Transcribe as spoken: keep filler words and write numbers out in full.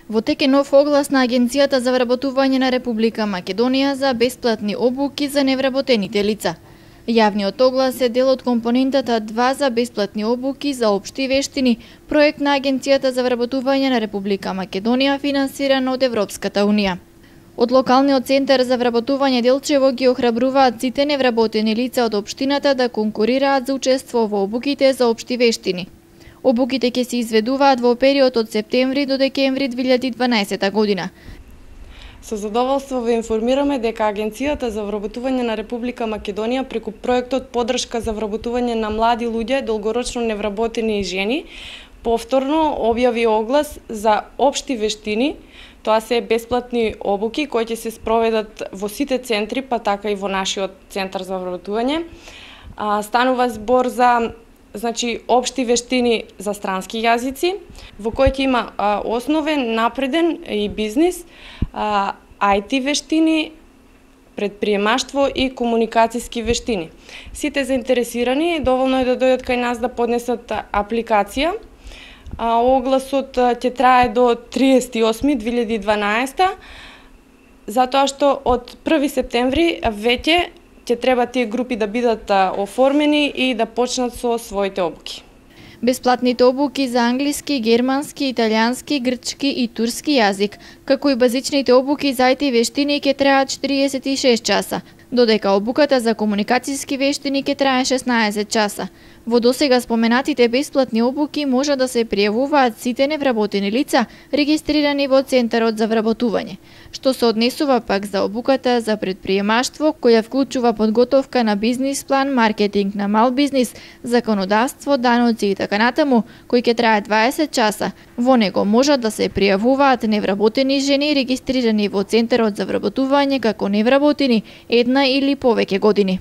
Во тек е нов оглас на Агенцијата за вработување на Република Македонија за бесплатни обуки за невработените лица. Јавниот оглас е дел од компонентата два за бесплатни обуки за општи вештини, проект на Агенцијата за вработување на Република Македонија финансиран од Европската унија. Од локалниот центар за вработување Делчево ги охрабруваат сите невработени лица од општината да конкурираат за учество во обуките за општи вештини. Обуките ќе се изведуваат во период од септември до декември две илјади и дванаесета година. Со задоволство ве информираме дека Агенцијата за вработување на Република Македонија преку проектот Поддршка за вработување на млади луѓе, долгорочно невработени и жени, повторно објави оглас за општи вештини. Тоа се бесплатни обуки кои ќе се спроведат во сите центри, па така и во нашиот центар за вработување. Станува збор за значи општи вештини за странски јазици, во кои ќе има а, основен, напреден и бизнис, а, ај ти вештини, предприемаштво и комуникацијски вештини. Сите заинтересирани доволно е да дојдат кај нас да поднесат апликација. А, огласот ќе трае до триесети и осми две илјади и дванаесета, затоа што од први септември веќе ќе треба тие групи да бидат оформени и да почнат со своите обуки. Бесплатните обуки за англиски, германски, италијански, грчки и турски јазик, како и базичните обуки за ај ти вештини ќе траат четиридесет и шест часа, додека обуката за комуникацијски вештини ќе трае шеснаесет часа. Во досега споменатите бесплатни обуки може да се пријавуваат сите невработени лица регистрирани во Центарот за вработување. Што се однесува пак за обуката за предприемаштво, која вклучува подготовка на бизнис план, маркетинг на мал бизнис, законодавство, даноци и така натаму, кој ќе трае дваесет часа. Во него можат да се пријавуваат невработени жени регистрирани во Центарот за вработување како невработени една или повеќе години.